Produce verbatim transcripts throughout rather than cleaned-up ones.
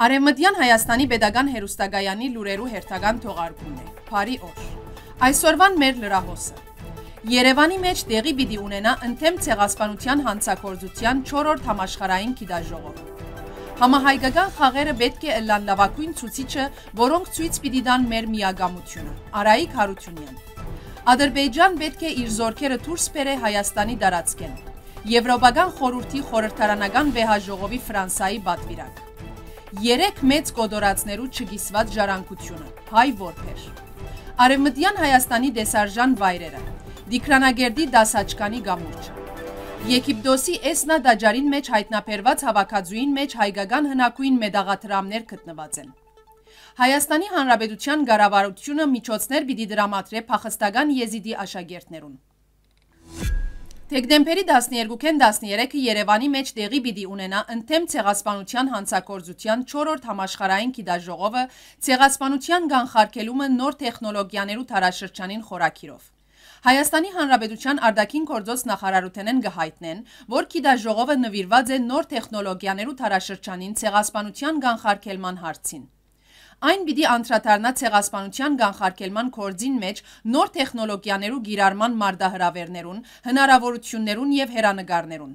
Արեւմտեան Հայաստանի Պետական Հեռուստակայանի լուրերու հերթական թողարկումն է։ Բարի օր։ Այսօրվան մեր լրահոսը։ Երեւանի մէջ տեղի պիտի ունենայ ընդդեմ ցեղասպանութեան յանցագործութեան չորրորդ համաշխարհային գիտաժողով։ Համահայկական խաղերը պէտք է ըլլան լաւագոյն ցուցիչը, որոնք ցոյց պիտի տան մեր միակամութիւնը։ Արայիկ Յարութիւնեան։ Ադրբեջան պէտք է իր զօրքերը դուրս բերէ Հայաստանի տարածքէն։ Եվրոպական խորհուրդի խորհրդարանական վեհաժողովի Ֆրանսայի պատուիրակ։ Երեք մեծ կոտորածներու չկիսուած ժառանգութիւնը, հայ որբեր։ Արեւմտեան Հայաստանի տեսարժան վայրերը, Տիգրանակերտի դասաչկանի կամուրջը։ Եգիպտոսի Էսնա տաճարին մէջ յայտնաբերուած հաւաքածուին մէջ հայկական հնագոյն մետաղադրամներ գտնուած են։ Հայաստանի Հանրապետութեան կառավարութիւնը միջոցներ պիտի դրամատրէ փախստական Եզիդի աշակերտներուն։ Դեկտեմբերի տասներկուքէն տասներեքը Երեւանի մէջ տեղի պիտի ունենայ ընդդեմ ցեղասպանութեան յանցագործութեան չորրորդ համաշխարհային գիտաժողովը, ցեղասպանութեան կանխարգելումը նոր տեխնոլոգիաներու դարաշրջանին խորագիրով։ Հայաստանի Հանրապետութեան արտաքին գործոց նախարարութենէն կը յայտնեն, որ գիտաժողովը նուիրուած է նոր տեխնոլոգիաներու դարաշրջանին ցեղասպանութեան կանխարգելման հարցին։ Այն պիտի անդրադառնայ ցեղասպանութեան կանխարգելման գործին մէջ նոր տեխնոլոգիաներու կիրառման մարտահրաւէրներուն, հնարաւորութիւններուն եւ հեռանկարներուն։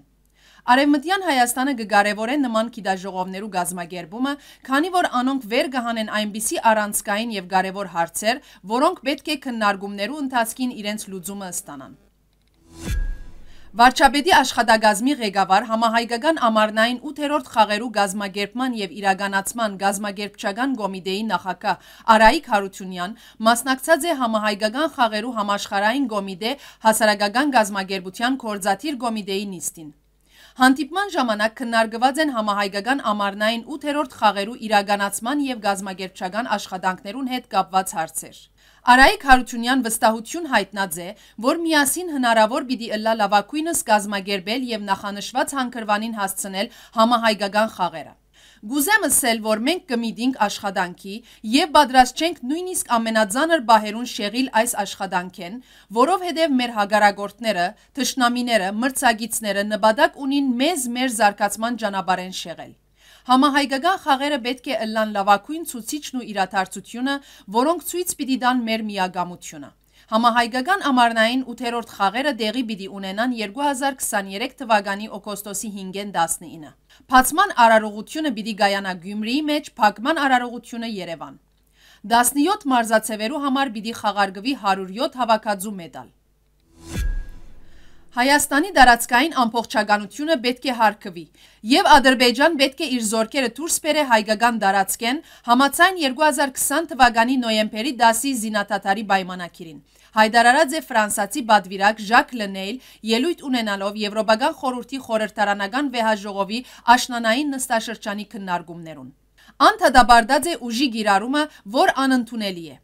Արեւմտեան Հայաստանը կը կարեւորէ նման գիտաժողովներու կազմակերպումը, քանի որ անոնք վեր կը հանեն այնպիսի առանցքային եւ կարեւոր հարցեր, որոնք պէտք է քննարկումներու ընթացքին իրենց լուծումը ստանան։ Վարչապետի աշխատակազմի ղեկավար, համահայկական ամառնային ութերորդ խաղերու կազմակերպման եւ իրականացման կազմակերպչական կոմիտէի նախագահ Արայիկ Յարութիւնեան մասնակցած է համահայկական խաղերու համաշխարհային կոմիտէ հասարակական կազմակերպութեան գործադիր կոմիտէի նիստին։ Հանդիպման ժամանակ քննարկուած են համահայկական ամառնային ութերորդ խաղերու իրականացման եւ կազմակերպչական աշխատանքներուն հետ կապուած հարցեր։ Արայիկ Յարութիւնեան վստահութիւն յայտնած է, որ միասին հնարաւոր պիտի ըլլայ լաւագոյնս կազմակերպել եւ նախանշուած հանգրուանին հասցնել համահայկական խաղերը։ «Կ'ուզեմ ըսել, որ մենք կը միտինք աշխատանքի եւ պատրաստ չենք նոյնիսկ ամենածանր պահերուն շեղիլ այս աշխատանքէն, որովհետեւ մեր հակառակորդները, թշնամիները, մրցակիցները նպատակ ունին մեզ մեր զարգացման ճանապարհէն շեղել։ Համահայկական խաղերը պէտք է ըլլան լաւագոյն ցուցիչն ու իրադարձութիւնը, որոնք ցոյց պիտի տան մեր միակամութիւնը»։ Համահայկական ամառնային ութերորդ խաղերը տեղի պիտի ունենան երկու հազար քսաներեք թվականի օգոստոսի հինգէն տասնինը։ Բացման արարողութիւնը պիտի կայանայ Գիւմրիի մէջ, փակման արարողութիւնը՝ Երեւան։ Տասնեօթ մարզաձեւերու համար պիտի խաղարկուի հարիւր եօթ հաւաքածու մետալ։ Հայաստանի տարածքային ամբողջականութիւնը պէտք է յարգուի, եւ Ադրբեջան պէտք է իր զօրքերը դուրս բերէ հայկական տարածքէն, համաձայն երկու հազար քսան թվականի նոյեմբերի տասի զինադադարի պայմանագիրին, յայտարարած է ֆրանսացի պատուիրակ Ժակ Լենեյլ՝ ելոյթ ունենալով Եվրոպական խորհուրդի խորհրդարանական վեհաժողովի աշնանային նստաշրջանի քննարկումներուն։ Ան դատապարտած է ուժի կիրառումը, որ անընդունելի է։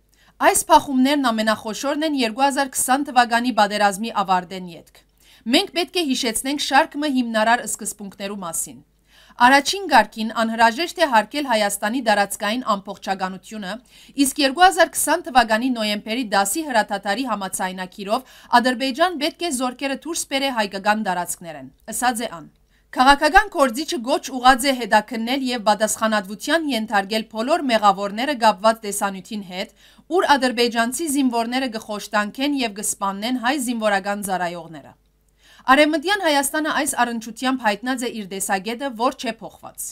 Այս բախումներն ամենախոշորն են երկու հազար քսան թվականի պատերազմի աւարտէն ետք։ Մենք պէտք է յիշեցնենք շարք մը հիմնարար սկզբունքներու մասին։ Առաջին կարգին անհրաժեշտ է յարգել Հայաստանի տարածքային ամբողջականութիւնը, իսկ երկու հազար քսան թվականի նոյեմբերի տասի հրադադարի համաձայնագիրով Ադրբեջան պէտք է զօրքերը դուրս բերէ հայկական տարածքներէն, ըսած է ան։ Քաղաքական գործիչը կոչ ուղղած է հետաքննել եւ պատասխանատվութեան ենթարկել բոլոր մեղաւորները կապուած տեսանիւթին հետ, ուր ադրբեջանցի զինուորները կը խոշտանքեն եւ կը սպաննեն հայ զինուորական ծառայողները։ Արեւմտեան Հայաստանը այս առնչութեամբ յայտնած է իր տեսակէտը, որ չէ փոխուած։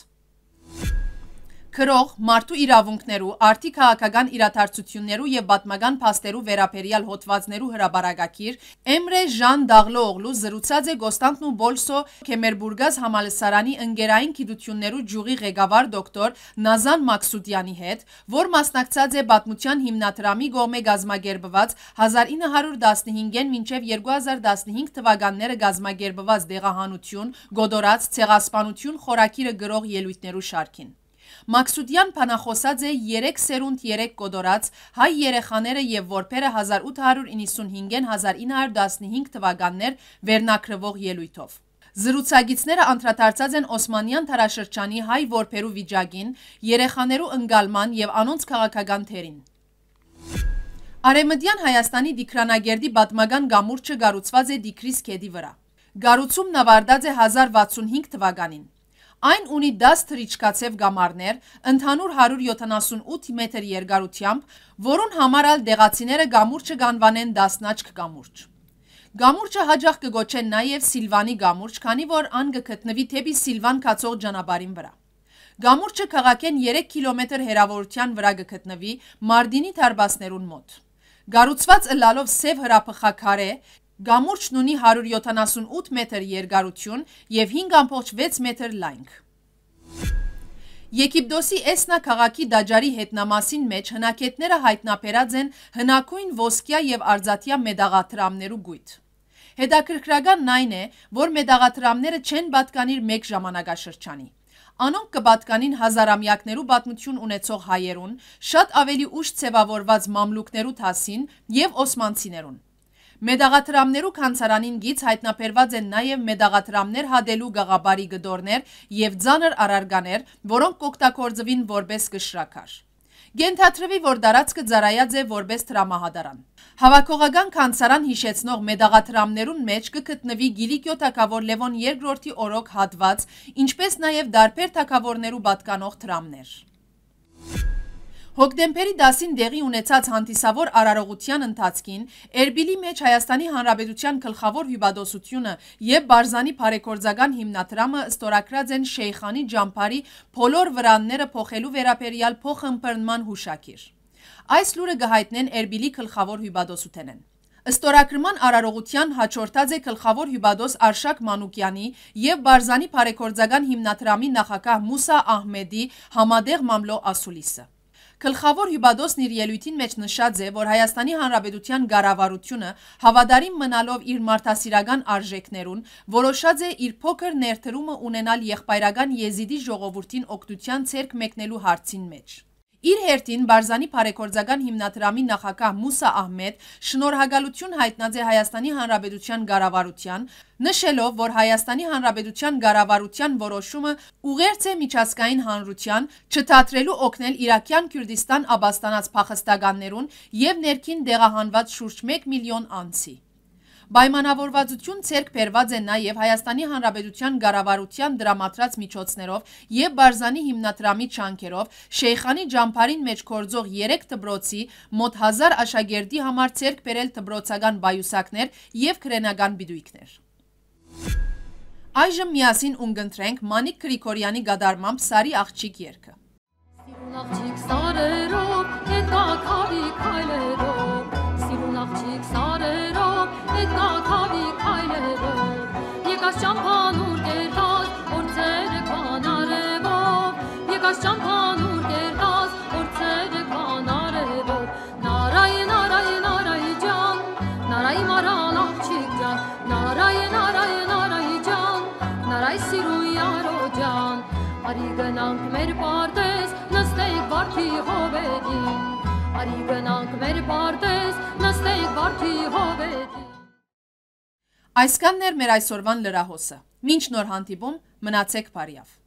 Գրող, մարդու իրաւունքներու, արդի քաղաքական իրադարձութիւններու եւ պատմական փաստերու վերաբերեալ հոդուածներու հրապարակագիր Էմրե Ժան Դաղլոօղլու զրուցած է Կոստանդնուպոլսո Քեմերբուրգազ համալսարանի ընկերային գիտութիւններու ճիւղի ղեկավար դոկտոր Նազան Մաքսուդեանի հետ, որ մասնակցած է պատմութեան հիմնադրամի կողմէ կազմակերպուած հազար ինը հարիւր տասնհինգէն մինչեւ երկու հազար տասնհինգ թվականները կազմակերպուած Դեղահանութիւն, կոտորած, ցեղասպանութիւն խորագիրը գրող ելոյթներու շարքին։ Մաքսուդեան բանախօսած է «Երեք սերունդ, երեք կոտորած, հայ երեխաները եւ որբերը հազար ութ հարիւր իննսունհինգէն հազար ինը հարիւր տասնհինգ թվականներ» վերնագրուող ելոյթով։ Զրուցակիցները անդրադարձած են Օսմանեան դարաշրջանի հայ որբերու վիճակին, երեխաներու ընկալման եւ անոնց քաղաքական դերին։ Արեւմտեան Հայաստանի Տիգրանակերտի պատմական կամուրջը կառուցուած է Տիգրիս գետի վրայ։ Կառուցումն աւարտած է հազար վաթսունհինգ թվականին։ Այն ունի դաս թռիչքաձեւ կամարներ, ընդհանուր հարիւր յոթանասունութ մետր երկարութեամբ, որուն համար ալ տեղացիները կամուրջը կ'անուանեն Տասնաչք կամուրջ։ Կամուրջը յաճախ կը կոչեն նաեւ Սիլվանի կամուրջ, քանի որ ան կը գտնուի դէպի Սիլվան գացող ճանապարհին վրայ։ Կամուրջը քաղաքէն երեք կիլոմետր հեռաւորութեան վրայ կը գտնուի Մարտինի դարպասներուն մօտ։ Կառուցուած ըլլալով սեւ հրաբխաքարէ, կամուրջն ունի հարիւր յոթանասունութ մետր երկարութիւն եւ հինգ ամբողջ վեց մետր լայնք։ Եգիպտոսի Էսնա քաղաքի տաճարի հետնամասին մէջ հնագետները յայտնաբերած են հնագոյն ոսկեայ եւ արծաթեայ մետաղադրամներու կոյտ։ Հետաքրքրականն այն է, որ մետաղադրամները չեն պատկանիր մէկ ժամանակաշրջանի։ Անոնք կը պատկանին հազարամեակներու պատմութիւն ունեցող հայերուն, շատ աւելի ուշ ձեւաւորուած մամլուքներու դասին եւ օսմանցիներուն։ Մետաղադրամներու գանձարանին կից յայտնաբերուած են նաեւ մետաղադրամներ հատելու կաղապարի կտորներ եւ ծանր առարկաներ, որոնք կօգտագործուին որպէս կշռաքար։ Կ'ենթադրուի, որ տարածքը ծառայած է որպէս դրամահատարան։ Հաւաքողական գանձարան յիշեցնող մետաղադրամներուն մէջ կը գտնուի Կիլիկիոյ թագաւոր Լեւոն երկրորդի օրօք հատուած, ինչպէս նաեւ տարբեր թագաւորներու պատկանող դրամներ։ Հոկտեմբերի տասին տեղի ունեցած հանդիսաւոր արարողութեան ընթացքին Էրպիլի մէջ Հայաստանի Հանրապետութեան գլխաւոր հիւպատոսութիւնը եւ Պարզանի բարեգործական հիմնադրամը ստորագրած են Շեյխանի ճամբարի բոլոր վրանները փոխելու վերաբերեալ փոխըմբռնման յուշագիր։ Այս լուրը կը յայտնեն Էրպիլի գլխաւոր հիւպատոսութենէն։ Ստորագրման արարողութեան յաջորդած է գլխաւոր հիւպատոս Արշակ Մանուկեանի եւ Պարզանի բարեգործական հիմնադրամի նախագահ Մուսա Ահմեդի համատեղ մամլոյ ասուլիսը։ Գլխաւոր հիւպատոսն իր ելոյթին մէջ նշած է, որ Հայաստանի Հանրապետութեան կառավարութիւնը, հաւատարիմ մնալով իր մարդասիրական արժէքներուն, որոշած է իր փոքր ներդրումը ունենալ եղբայրական եզիդի ժողովուրդին օգնութեան ձեռք մեկնելու հարցին մէջ։ Իր հերթին, Պարզանի բարեգործական հիմնադրամի նախագահ Մուսա Ահմեդ շնորհակալութիւն յայտնած է Հայաստանի Հանրապետութեան կառավարութեան, նշելով, որ Հայաստանի Հանրապետութեան կառավարութեան որոշումը ուղերձ է միջազգային հանրութեան, չդադրելու օգնել Իրաքեան Քուրդիստան ապաստանած փախստականներուն եւ ներքին տեղահանուած շուրջ մէկ միլիոն անձի։ Պայմանաւորուածութիւն ձեռք բերուած է նաեւ Հայաստանի Հանրապետութեան կառավարութեան տրամադրած միջոցներով եւ Պարզանի հիմնադրամի ջանքերով Շեյխանի ճամբարին մէջ գործող երեք դպրոցի մօտ հազար աշակերտի համար ձեռք բերել դպրոցական պայուսակներ եւ քրենական պիտոյքներ։ Այժմ միասին ունկնդրենք Մանիկ Գրիգորեանի կատարմամբ Սարի աղջիկ երգը։ Սիրուն աղջիկ սարերով, հետ կա քավի քայլերով, սիրուն աղջիկ սարերով, հետ կա քավի քայլերով։ Եկաս ճամփան ուր կերտած, օր ցերեկվան արևով, եկաս ճամփան ուր կերտած, օր ցերեկվան արևով։ Նարայ, նարայ, նարայ ջան, նարայ մարալ աղջիկ ջան, նարայ, նարայ, նարայ ջան, նարայ սիրուն Եարո ջան։ Արի գնանք մեր պարտեզ, նստենք վարդի հովերին։ Արի գնանք մեր պարտեզ, նստենք վարդի հովերին։ Այսքանն էր մեր այսօրվան լրահոսը։ Մինչ նոր հանդիպում, մնացեք բարիաւ։